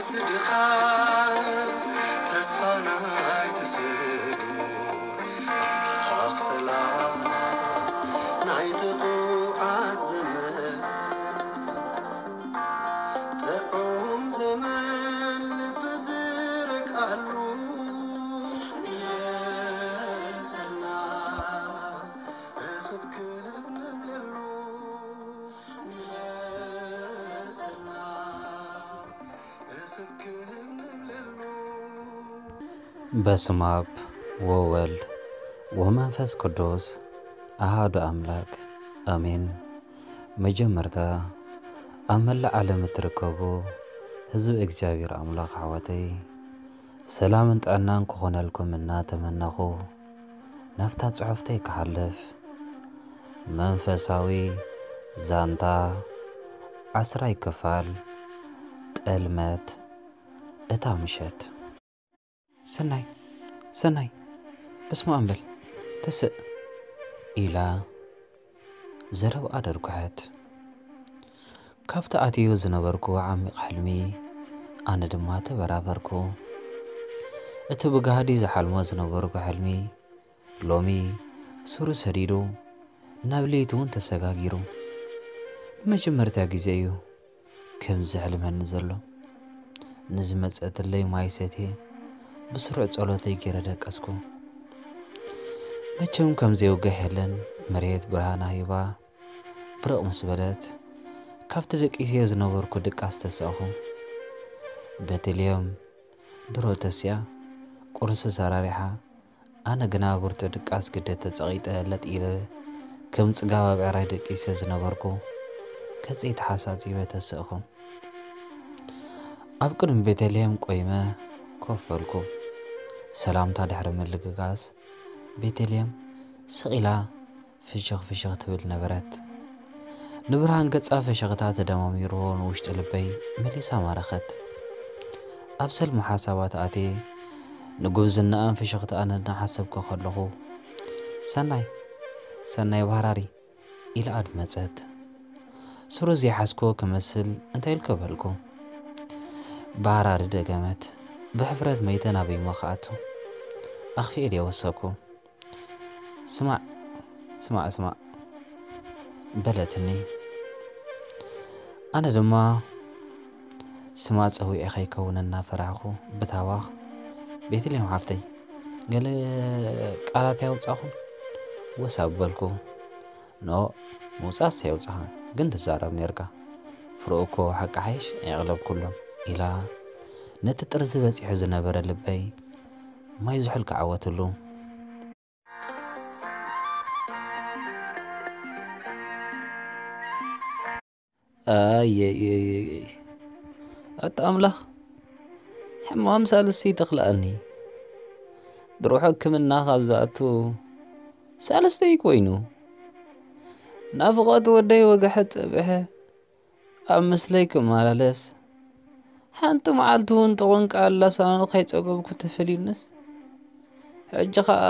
ስድኻ ተስፋ ናይ ተስእሉ ኣምላኽ ሰላም ናይ ጥዑዓት ዘመን ጥዑም ዘመን ልቢ ዝረግኣሉ ምለሰና እኽብክብ ንብለሉ ምለሰና እኽብክብ ንብለሉ። በስመ አብ ወወልድ ወመንፈስ ቅዱስ አሐዱ አምላክ አሜን። መጀመርታ ኣብ መላእ ዓለም እትርከቡ ህዝቢ እግዚኣብሔር ኣምላኽ ኣሕዋተይ ሰላምን ጥዕናን ክኾነልኩም እናተመነኹ ናብታ ጽሑፍተይ ክሓልፍ መንፈሳዊ ዛንታ ዓስራይ ክፋል ጠልመት እታ ምሸት። ሰናይ ሰናይ በስመ ኣብ በል ተስእ ኢላ ዘረብኣ ደርጉሐት። ካብቲ ኣትዮ ዝነበርኩ ዓሚቕ ሕልሚ ኣነ ድማ ተበራበርኩ። እቲ ብጋህዲ ዝሓልሞ ዝነበርኩ ሕልሚ ሎሚ ሱሩ ሰዲዱ ናብ ለይቲ እውን ተሰጋጊሩ። ንመጀመርታ ግዜ እዩ ከምዚ ዝሕልመኒ ዘሎ። ንዝመጸትለይ ማይ ሰትየ ብስሩዕ ጸሎተይ ገይረ ደቀስኩ። መቸም ከም ዘይውጋሕ የለን። መሬት ብርሃና ሂባ ብርቕ ምስ በለት ካብቲ ደቂሰዮ ዝነበርኩ ድቃስ ተሳእኹ። ቤተልሔም ድሮ ተሲኣ ቁርሲ ሰራሪሓ ኣነ ግና ብርቱዕ ድቃስ ግደ ተጸቒጠ ለጥ ኢለ ከም ጽጋብ ኣብ ዕራይ ደቂሰ ዝነበርኩ ገጸይ ተሓሳጺበ ተስእኹ። ኣብ ቅድሚ ቤተልሔም ቆይመ ኮፍ በልኩ። ሰላምታ ድሕሪ ምልግጋስ ቤተልሔም ስቕ ኢላ ፍሽኽ ፍሽኽ ትብል ነበረት። ንብርሃን ገጻ ፍሽኽታ ተደማሚርዎ ንውሽጢ ልበይ መሊሳ ማረኸት። ኣብ ሰልሚ ሓሳባት ኣትየ ንጉብዝናኣን ፍሽኽታኣን እናሓሰብኩ ከለኹ ሰናይ ሰናይ ባህራሪ ኢላ ኣድመጸት። ሱሩ ዘይሓዝክዎ ክመስል እንታይ ኢልከ በልኩ። ባህራሪ ደገመት። ብሕፍረት መይተ ናበይ እሞ ክኣቱ ኣኽፊኤ ድየ ወሰኩ። ስማዕ ስማዕ ስማዕ በለትኒ። ኣነ ድማ ስማ ጸዊዐ ከይከውን እናፈራሕኩ ብታዋኽ ቤተልሔም ሓፍተይ ገለ ቃላት ያውጻኹን ወስ ኣበልኩ። ኖ ምውጻእስ የውጻኻ ግን ትዛረብ ኔርካ። ፍርኡ እኮ ሓቂ ሓይሽ ኣይቕለብኩሉን ኢላ ነቲ ጥርዚ በጺሑ ዝነበረ ልበይ ማይ ዝሑል ክዓወትሉ። ኣየየየየ ኣታ ኣምላኽ ሕማም ሳልስቲ ተኽልኣኒ ድሮ ሕክምና ካብ ዝኣቱ ሳልስተይ ኮይኑ ናፍቖት ወደይ ወግሐ ጸብሐ ኣብ ምስለይ ክመላለስ ሓንቲ መዓልቲ እውን ጥቕንቃ ኣላሳኑ ከይጸገብኩ ተፈልዩንስ ሕጂ ኸኣ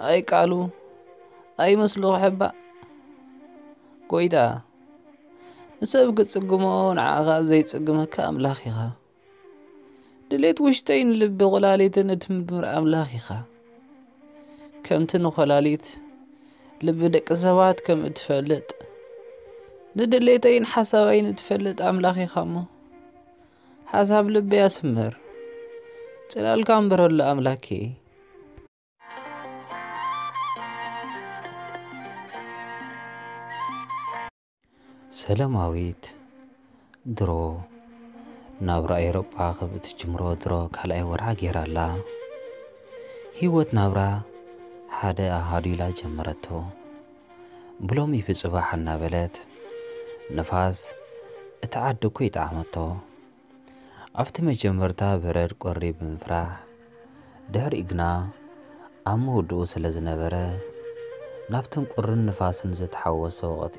ኣይ ቃሉ ኣይ ምስሉ ክሕባእ ጎይታ ንሰብ ክትጽግሞ ንዓኻ ዘይጽግመካ ኣምላኽ ኢኻ። ድሌት ውሽጠይን ልቢ ቁላሊትን እትምርምር ኣምላኽ ኢኻ። ከምቲ ንኮላሊት ልቢ ደቂ ሰባት ከም እትፈልጥ ንድሌተይን ሓሳበይን እትፈልጥ ኣምላኽ ኢኻ እሞ ሓሳብ ልበይ ኣስምር። ጽላልካ ኣንብረሉ ኣምላኬ። ሰለማዊት ድሮ ናብራ ኤውሮጳ ከም እትጅምሮ ድሮ ካልኣይ ወርሓ ገይራ ኣላ። ህይወት ናብራ ሓደ ኣሃዱ ኢላ ጀመረቶ። ብሎሚ ብጽባሕ እናበለት ንፋስ እቲ ዓዲ እኮ ይጠዓመቶ። ኣብቲ መጀመርታ በረድ ቁሪ ብምፍራሕ ድሕሪኡ ግና ኣብ ምውድኡ ስለ ዝነበረ ናብትን ቁርን ንፋስን ዝተሓወሶ ወቕቲ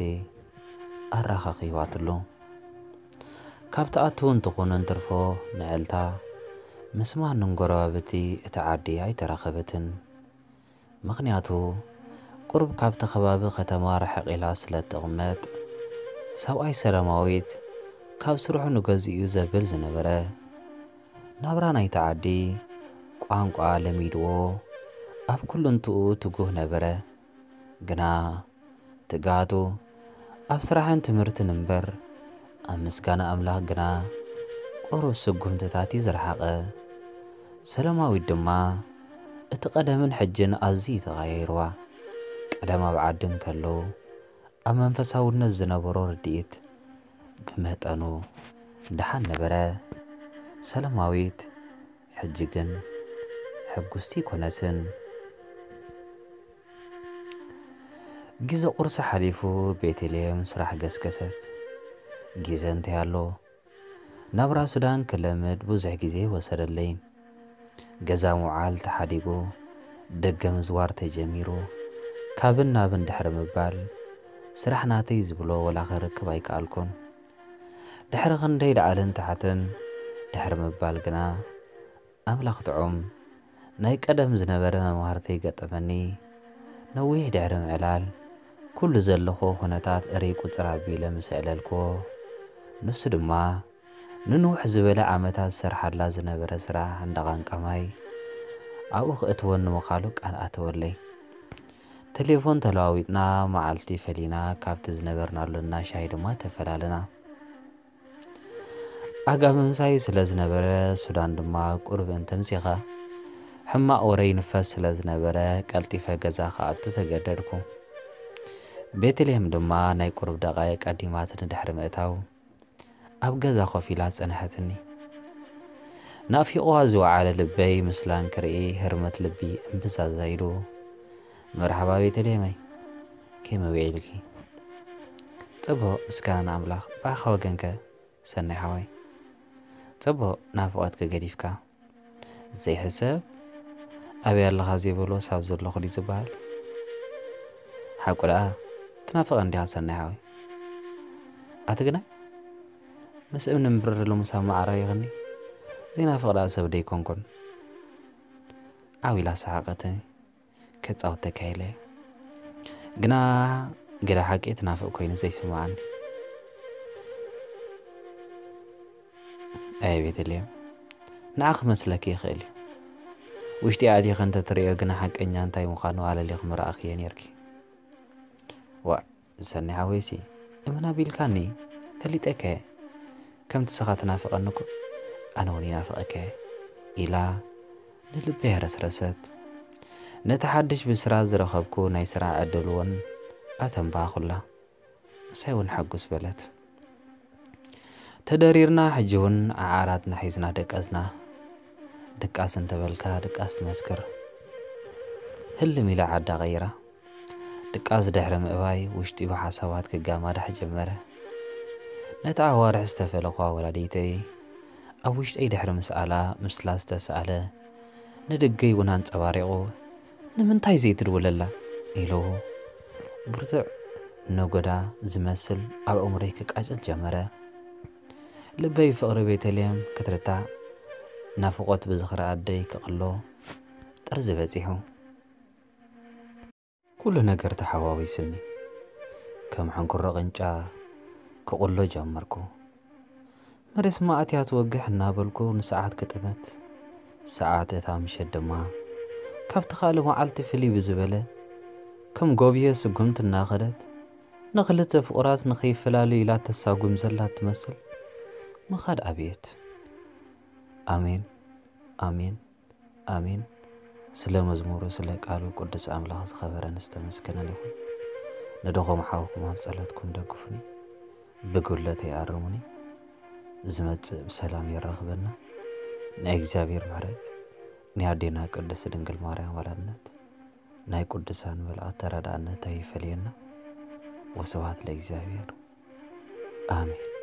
ኣረኻኺባትሉ። ካብ ትኣትውን ትኹንን ትርፎ ንዕልታ ምስ ማንም ጎረባብቲ እቲ ዓዲ ኣይተራኸበትን። ምኽንያቱ ቁሩብ ካብቲ ከባቢ ከተማ ርሕቕ ኢላ ስለ እትቕመጥ። ሰብኣይ ሰላማዊት ካብ ስርሑ ንገዝኡ ዘብል ዝነበረ፣ ናብራ ናይቲ ዓዲ ቋንቋ ለሚድዎ ኣብ ኩልንትኡ ትጉህ ነበረ። ግና ትግሃቱ ኣብ ስራሕን ትምህርትን እምበር ኣብ ምስጋና ኣምላኽ ግና ቁሩብ ስጉምትታት እዩ ዝረሓቐ። ሰለማዊት ድማ እቲ ቀደምን ሕጅን ኣዝዩ ተቐያይርዋ። ቀደም ኣብ ዓዲ እንከለዉ ኣብ መንፈሳውነት ዝነበሮ ርድኢት ብመጠኑ ደሓን ነበረ። ሰለማዊት ሕጂ ግን ሕጉስቲ ኣይኮነትን። ግዜ ቁርሲ ሓሊፉ ቤተልሔም ስራሕ ገስገሰት። ግዜ እንታይ ኣሎ? ናብራ ሱዳን ክለምድ ብዙሕ ግዜ ወሰደለይን። ገዛ ምውዓል ተሓዲጉ፣ ደገ ምዝዋር ተጀሚሩ። ካብን ናብን ድሕሪ ምባል ስራሕ ናተይ ዝብሎ ወላ ክርክብ ኣይከኣልኩን። ድሕሪ ክንደይ ላዕልን ታሕትን ድሕሪ ምባል ግና ኣምላኽ ጥዑም ናይ ቀደም ዝነበረ መምሃርተይ ገጠመኒ። ነዊሕ ድሕሪ ምዕላል ኩሉ ዘለኹ ኩነታት እርይ ቁጽር ኣቢለ ምስ ኣዕለልክዎ፣ ንሱ ድማ ንንውሕ ዝበለ ዓመታት ዝሰርሓላ ዝነበረ ስራሕ እንዳ ቃንቃ ማይ ኣብኡ ክእትወኒ ምዃሉ ቃል ኣተወለይ። ቴሌፎን ተለዋዊጥና፣ መዓልቲ ፈሊና ካብቲ ዝነበርናሉ እንዳ ሻሂ ድማ ተፈላለና። ኣጋ ምምሳይ ስለ ዝነበረ ሱዳን ድማ ቁሩብ እንተምሲኻ ሕማቕ ወረ ይንፈስ ስለ ዝነበረ ቀልጢፈ ገዛ ክኣቱ ተገደድኩ። ቤተልሔም ድማ ናይ ቁሩብ ደቓይቕ ቀዲማትኒ ድሕሪ ምእታው ኣብ ገዛ ኮፍ ኢላ ጸንሐትኒ። ናፊቑዋ ዝወዓለ ልበይ ምስላን ክርኢ ህርመት ልቢ እምብዛ ዛይዱ። መርሓባ ቤተልሔመይ፣ ከመይ ውዒልኪ? ጽቡቕ ምስጋና ንኣምላኽ። ብኣኻ ወገንከ ሰናይ ሓወይ? ጽቡቕ ናፍቖትኪ ገዲፍካ ዘይሕሰብ ኣበይ ኣለኻ ዘይበልዎ ሳብ ዘለኹ ድዩ ዝበሃል? ሓቁ ደኣ ትናፍቐኒ ዲኻ ሰናይ ሓወይ? ኣቲ ግናይ ምስ እምኒ ምብርር ኢሉ ምሳብ መዓረሪኽኒ ዘይናፍቕ ደኣ ሰብ ደይኮንኩን። ዓው ኢላ ሰሓቐትኒ። ከጻውተካ ኢለ ግና ገለ ሓቂ ትናፍቕ ኮይኑ ዘይስምዓኒ። ኣየ ቤተልሔም፣ ንዓ ክመስለኪ ይኽእል እዩ። ውሽጢ ኣእቲኺ እንተትርእዮ ግና ሓቀኛ እንታይ ምዃኑ ኣለሊኺ ምረኣኽዮ ኔርኪ። ዋእ ሰኒ ሓወይሲ፣ እመን ኣቢልካኒ፣ ፈሊጠከ። ከምቲ ስኻ ትናፍቐኒ እኮ ኣነ እውን ይናፍቐከ፣ ኢላ ንልበይ ኣረስረሰት። ነቲ ሓድሽ ብስራ ዝረኸብኩ ናይ ስራሕ ዕድል እውን ኣተንባኹላ። ምሳይ እውን ሕጉስ በለት። ተደሪርና ሕጂ እውን ዓዓራትና ሒዝና ደቀስና። ድቃስ እንተበልካ ድቃስ ትመስክር። ህልም ኢላ ዓዳ ቀይራ። ድቃስ ድሕሪ ምእባይ ውሽጢ ብሓሳባት ክጋማዳሕ ጀመረ። ነቲ ኣዋርሕ ዝተፈለኹዋ ወላዲተይ ኣብ ውሽጠይ ድሕሪ ምስኣላ ምስላ ዝተስኣለ ንደገይ እውን ኣንጸባሪቑ፣ "ንምንታይ ዘይትድውለላ?" ኢሉ ብርቱዕ ነጎዳ ዝመስል ኣብ ኣእምሮይ ክቃጭል ጀመረ። ልበይ ፍቕሪ ቤተልሔም ክትርታዕ፣ ናፍቖት ብዝኽሪ ኣደይ ክቕሎ ጥርዚ በጺሑ። ኩሉ ነገር ተሓዋዊሱኒ። ከም ሕንኩሮ ቅንጫ ክቑሎ ጀመርኩ። መሬት ስማ ኣትያ ትወግሕ እናበልኩ ንሰዓት ክጥምት፣ ሰዓት እታ ምሸት ድማ ካብቲ ካልእ መዓልቲ ፍልይ ብዝበለ፣ ከም ጎብየ ስጉምቲ እናኸደት፣ ንኽልተ ፍቑራት ንኸይፈላለዩ ኢላ ተሳጉም ዘላ ትመስል ምኻድ ኣብየት። ኣሜን፣ ኣሜን፣ ኣሜን። ስለ መዝሙሩ፣ ስለ ቃሉ ቅዱስ ኣምላኽ ዝኸበረን ዝተመስገነን ይኹን። ንድኹም ሓውኩም ኣብ ጸሎትኩም ደግፉኒ፣ ብጉድለተይ ኣርሙኒ። ዝመጽእ ብሰላም የራኽበና። ናይ እግዚኣብሔር ምሕረት፣ ናይ ኣዴና ቅድስት ድንግል ማርያም ኣማላድነት፣ ናይ ቅዱሳን መላእክት ተራዳእነት ኣይፈለየና። ወስብሐት ለእግዚኣብሔር። ኣሜን።